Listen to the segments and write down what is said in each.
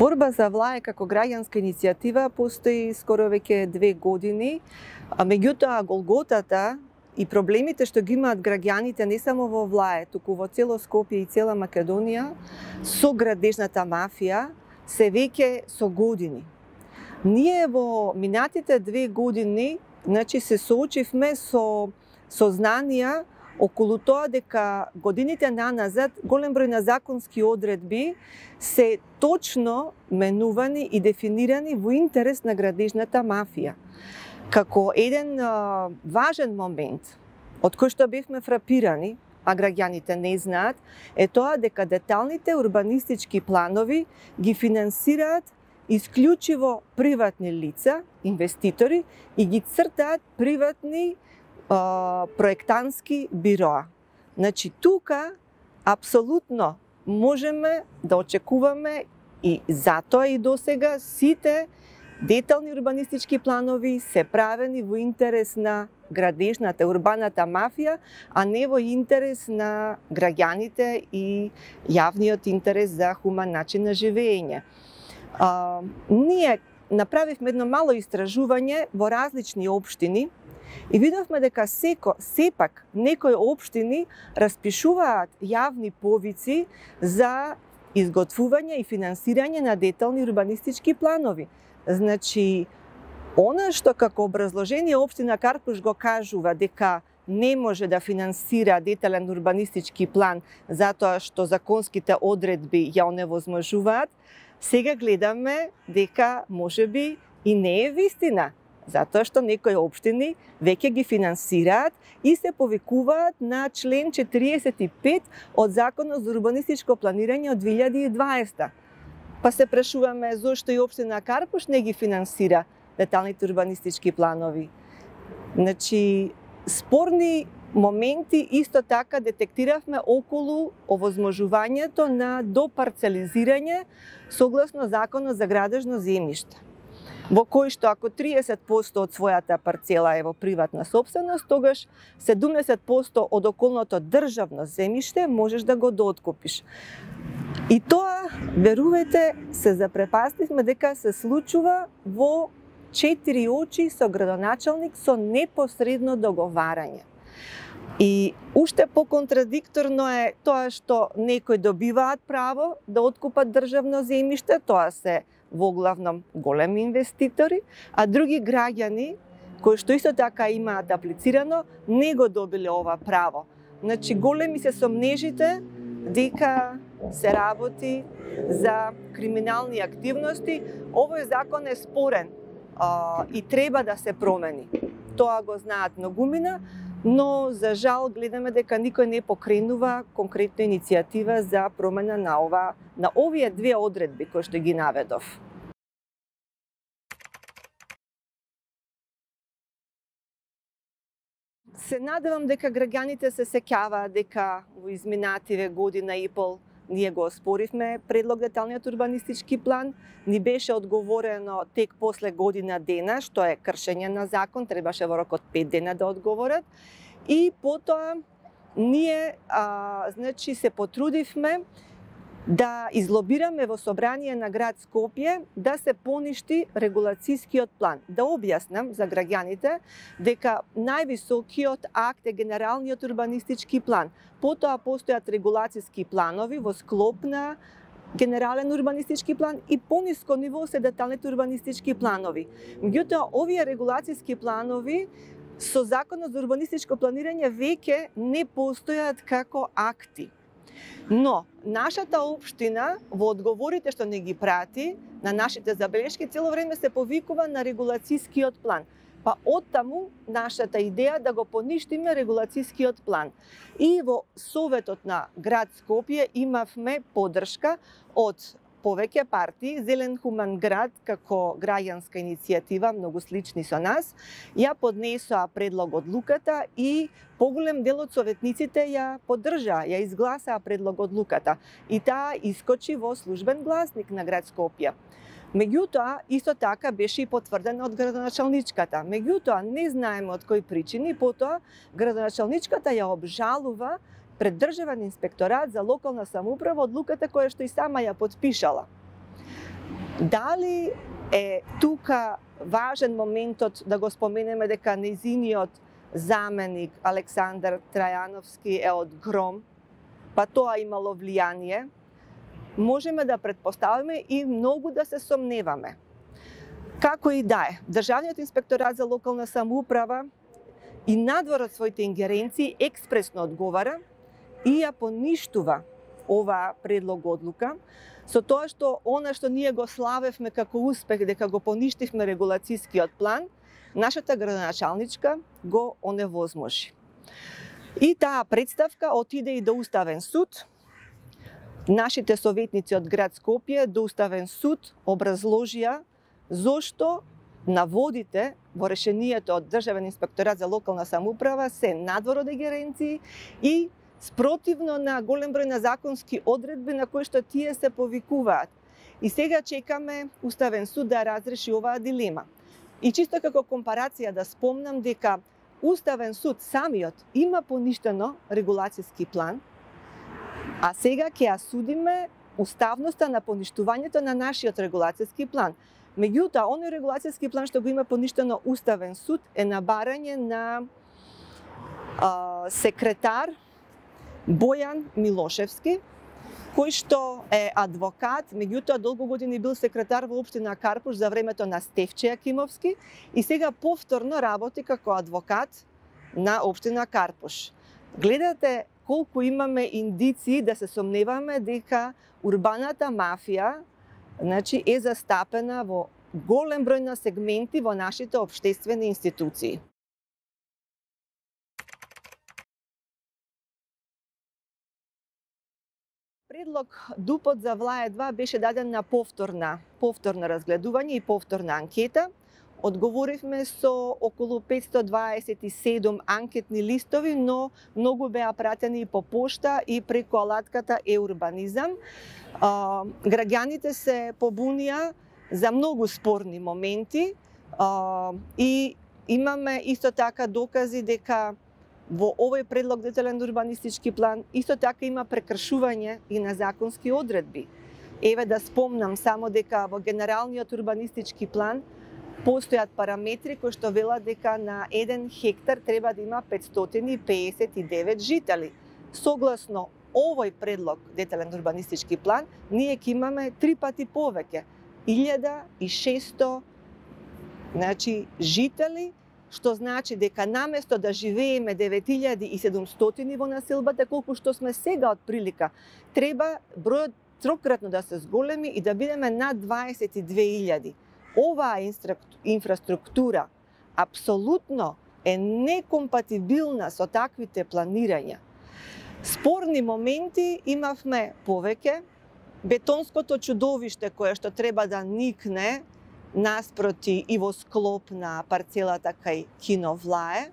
Борба за влај како граѓанска иницијатива постои скоро веќе 2 години, меѓутоа голготата и проблемите што ги имаат граѓаните не само во Влаје, туку во цело Скопје и цела Македонија со градежната мафија се веќе со години. Ние во минатите 2 години се соочивме со сознанија околу тоа дека годините наназад голем број на законски одредби се точно менувани и дефинирани во интерес на градежната мафија. Како еден важен момент од кој што бевме фрапирани, а граѓаните не знаат, е тоа дека деталните урбанистички планови ги финансираат исклучиво приватни лица, инвеститори, и ги цртаат приватни проектантски бироа. Значи, тука апсолутно можеме да очекуваме и затоа и досега сите детални урбанистички планови се правени во интерес на градежната, урбаната мафија, а не во интерес на граѓаните и јавниот интерес за хуман начин на живење. Ние направивме едно мало истражување во различни општини и видовме дека сепак некои општини распишуваат јавни повици за изготвување и финансирање на детални урбанистички планови. Значи, она што како образложение општина Карпуш го кажува дека не може да финансира детален урбанистички план затоа што законските одредби ја оневозможуваат, сега гледаме дека можеби и не е вистина, затоа што некои општини веќе ги финансираат и се повикуваат на член 45 од Законот за урбанистичко планирање од 2020. Па се прашуваме зошто и општина Карпуш не ги финансира деталните урбанистички планови. Значи, спорни моменти исто така детектиравме околу овозможувањето на допарцелизирање согласно Законот за градежно земјиште, во кој што ако 30% од својата парцела е во приватна сопственост, тогаш 70% од околното државно земјиште можеш да го дооткупиш. И тоа, верувајте, се запрепастивме дека се случува во 4 очи со градоначалник со непосредно договарање. И уште поконтрадикторно е тоа што некои добиваат право да откупат државно земјиште, тоа се воглавном големи инвеститори, а други граѓани кои што исто така имаат аплицирано не го добиле ова право. Значи, големи се сомнежите дека се работи за криминални активности. Овој закон е спорен и треба да се промени. Тоа го знаат многумина, но за жал гледаме дека никој не покренува конкретна иницијатива за промена на овие 2 одредби кои што ги наведов. Се надевам дека граѓаните се сеќаваат дека во изминативе година и пол ние го оспоривме предлог деталниот урбанистички план, ни беше одговорено тек после година дена, што е кршење на закон, требаше во рок од 5 дена да одговорат. И потоа ние се потрудивме да излобираме во собрание на град Скопје да се поништи регулацискиот план. Да објаснам за граѓаните дека највисокиот акт е генералниот урбанистички план. Потоа постојат регулациски планови во склоп на генерален урбанистички план и пониско ниво се деталните урбанистички планови. Меѓутоа, овие регулациски планови со Законот за урбанистичко планирање веќе не постојат како акти. Но, нашата општина, во одговорите што не ги прати, на нашите забелешки, цело време се повикува на регулацискиот план. Па оттаму нашата идеја да го поништиме регулацискиот план. И во Советот на град Скопје имавме поддршка од повеќе партии. Зелен хуман град како граѓанска иницијатива, многу слични со нас, ја поднесоа предлог одлуката и поголем дел од советниците ја поддржаа, ја изгласаа предлог одлуката. И таа искочи во службен гласник на град Скопје. Меѓутоа, исто така беше и потврдена од градоначалничката. Меѓутоа, не знаеме од кои причини, потоа градоначалничката ја обжалува пред Државен инспекторат за локална самоуправа одлуката која што и сама ја потпишала. Дали е тука важен моментот да го споменеме дека нејзиниот заменик Александар Трајановски е од Гром, па тоа имало влијание, можеме да претпоставиме и многу да се сомневаме. Како и да е, Државниот инспекторат за локална самоуправа и надвор од своите ингеренции експресно одговара и ја поништува оваа предлог одлука, со тоа што она што ние го славевме како успех дека го поништивме регулацијскиот план, нашата градоначалничка го оневозможи. И таа представка отиде и до Уставен суд. Нашите советници од град Скопје до Уставен суд образложија зошто наводите во решението од Државен инспекторат за локална самоуправа се надвор од ингеренции и спротивно на голем број на законски одредби на кои што тие се повикуваат. И сега чекаме Уставен суд да разреши оваа дилема. И чисто како компарација да спомнам дека Уставен суд самиот има поништено регулацијски план, а сега ќе ја судиме уставноста на поништувањето на нашиот регулацијски план. Меѓутоа, оној регулацијски план што го има поништено Уставен суд е на барање на секретар Бојан Милошевски, кој што е адвокат, меѓутоа долго години бил секретар во општина Карпуш за времето на Стефче Јакимовски и сега повторно работи како адвокат на општина Карпуш. Гледате колку имаме индиции да се сомневаме дека урбаната мафија е застапена во голем број на сегменти во нашите општествени институции. Предлог ДУП-от за ВЛАЕ 2 беше даден на повторно разгледување и повторна анкета. Одговоривме со околу 527 анкетни листови, но многу беа пратени и по пошта и преку алатката e-урбанизам. Граѓаните се побунија за многу спорни моменти и имаме исто така докази дека во овој предлог детален урбанистички план исто така има прекршување и на законски одредби. Еве да спомнам само дека во генералниот урбанистички план постојат параметри кои што велат дека на 1 хектар треба да има 559 жители. Согласно овој предлог детален урбанистички план, ние ќе имаме 3 пати повеќе, 1600 жители, што значи дека наместо да живееме 9700 во населбата, колку што сме сега од прилика, треба бројот трократно да се зголеми и да бидеме над 22.000. Оваа инфраструктура апсолутно е некомпатибилна со таквите планирања. Спорни моменти имавме повеќе. Бетонското чудовиште кое што треба да никне наспроти и во склоп на парцелата кај Кино ВЛАЕ,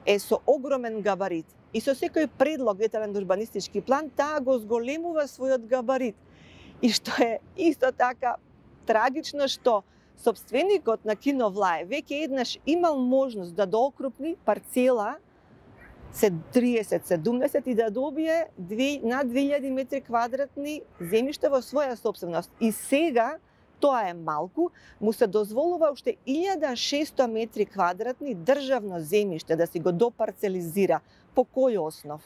е со огромен габарит. И со секој предлог детален урбанистички план, таа го зголемува својот габарит. И што е исто така трагично, што сопственикот на Кино ВЛАЕ веќе еднаш имал можност да доокрупни парцела 30-70 и да добие над 2000 метри квадратни земјишта во своја собственост. И сега тоа е малку, му се дозволува уште 1600 метри квадратни државно земјиште да си го допарцелизира. По кој основ?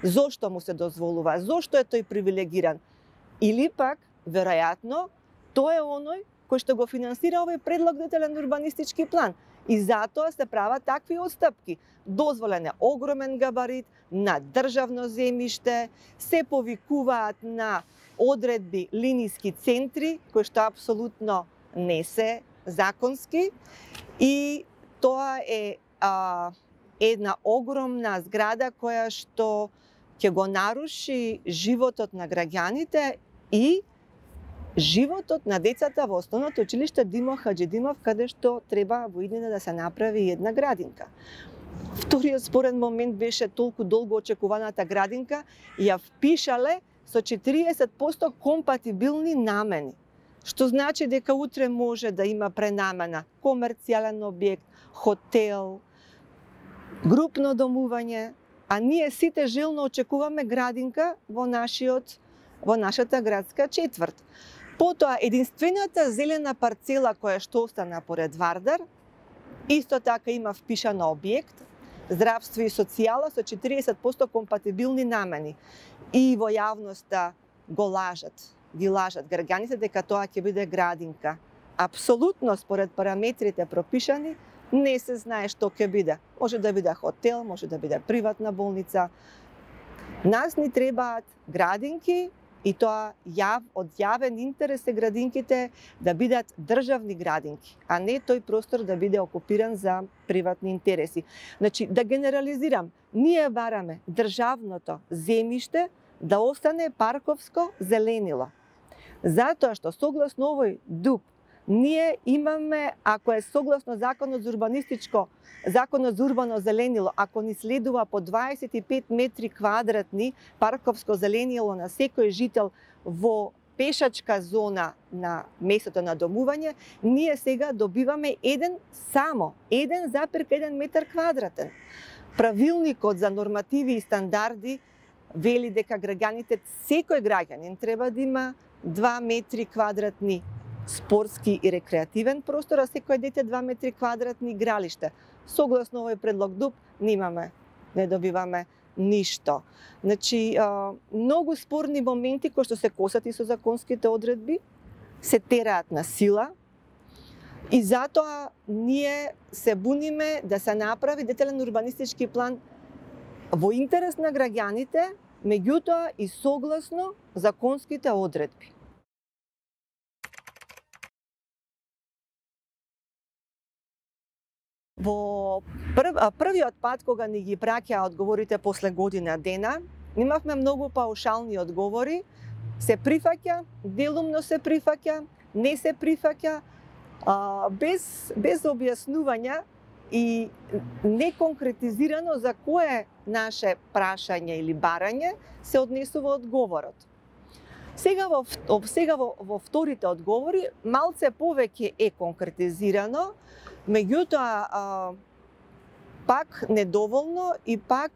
Зошто му се дозволува? Зошто е тој привилегиран? Или пак, веројатно, тој е оној кој што го финансира овој предлог детален урбанистички план. И затоа се прават такви отстапки. Дозволен е огромен габарит на државно земјиште, се повикуваат на одредби линиски центри, кои што апсолутно не се законски. И тоа е една огромна зграда која што ќе го наруши животот на граѓаните и животот на децата во основното училиште Димо Хаџидимов, каде што треба во иднина да се направи една градинка. Вториот спорен момент беше толку долго очекуваната градинка и ја впишале со 40% компатибилни намени. Што значи дека утре може да има пренамена комерцијален објект, хотел, групно домување, а ние сите жилно очекуваме градинка во нашата градска четврт. Потоа, единствената зелена парцела која што остана поред Вардар, исто така има впишано објект, здравство и социјала со 40% компатибилни намени. И во јавноста го лажат, ги лажат граѓаните дека тоа ќе биде градинка. Апсолутно според параметрите пропишани, не се знае што ќе биде. Може да биде хотел, може да биде приватна болница. Нас ни требаат градинки и тоа од јавен интерес е градинките да бидат државни градинки, а не тој простор да биде окупиран за приватни интереси. Значи, да генерализирам, ние бараме државното земјиште да остане парковско зеленило. Затоа што согласно овој ДУП, ние имаме, ако е согласно Законот за урбано зеленило, ако ни следува по 25 метри квадратни парковско зеленило на секој жител во пешачка зона на местото на домување, ние сега добиваме 1,1 метар квадратен. Правилникот за нормативи и стандарди вели дека граѓаните, секој граѓанин треба да има 2 метри квадратни спортски и рекреативен простор, а секој дете 2 метри квадратни игралиште. Согласно овој предлог ДУП, не добиваме ништо. Значи, многу спорни моменти кои што се косат и со законските одредби, се тераат на сила и затоа ние се буниме да се направи детален урбанистички план во интерес на граѓаните, меѓутоа и согласно законските одредби. Во првиот пат кога ни ги праќаа одговорите после година дена, имавме многу паушални одговори, се прифаќа, делумно се прифаќа, не се прифаќа, без објаснувања и неконкретизирано за кое наше прашање или барање се однесува одговорот. Сега во вторите одговори малце повеќе е конкретизирано, меѓутоа пак недоволно и пак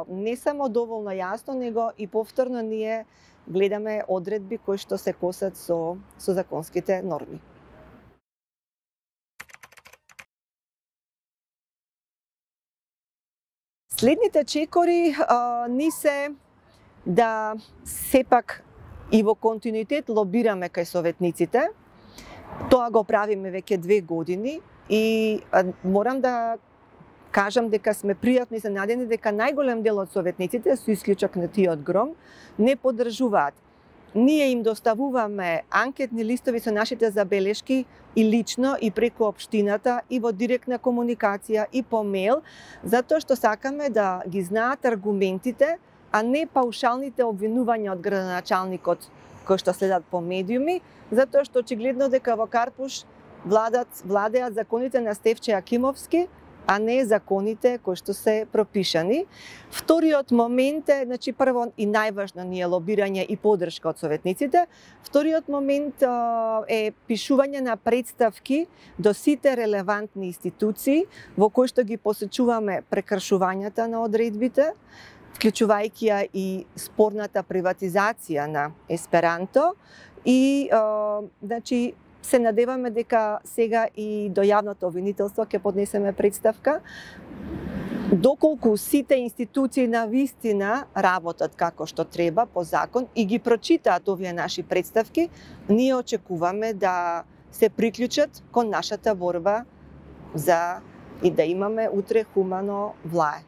не само доволно јасно, него и повторно ние гледаме одредби кои што се косат со законските норми. Следните чекори ни се да сепак и во континуитет лобираме кај советниците. Тоа го правиме веќе 2 години и морам да кажам дека сме пријатно изненадени дека најголем дел од советниците, со исклучок на тие од Гром, не поддржуваат. Ние им доставуваме анкетни листови со нашите забелешки и лично и преку општината и во директна комуникација и по мејл, затоа што сакаме да ги знаат аргументите, а не паушалните обвинувања од градоначалникот кои што следат по медиуми, затоа што очигледно дека во Карпуш владеат законите на Стефче Акимовски, а не законите кои што се пропишани. Вториот момент е, значи прво и најважно ни е лобирање и поддршка од советниците. Вториот момент е пишување на представки до сите релевантни институции во кои што ги посечуваме прекршувањата на одредбите, вклучувајќи ја и спорната приватизација на Есперанто и значи се надеваме дека сега и до јавното обвинителство ќе поднесеме представка. Доколку сите институции на вистина работат како што треба по закон и ги прочитаат овие наши представки, ние очекуваме да се приклучат кон нашата борба за и да имаме утре хумано влае.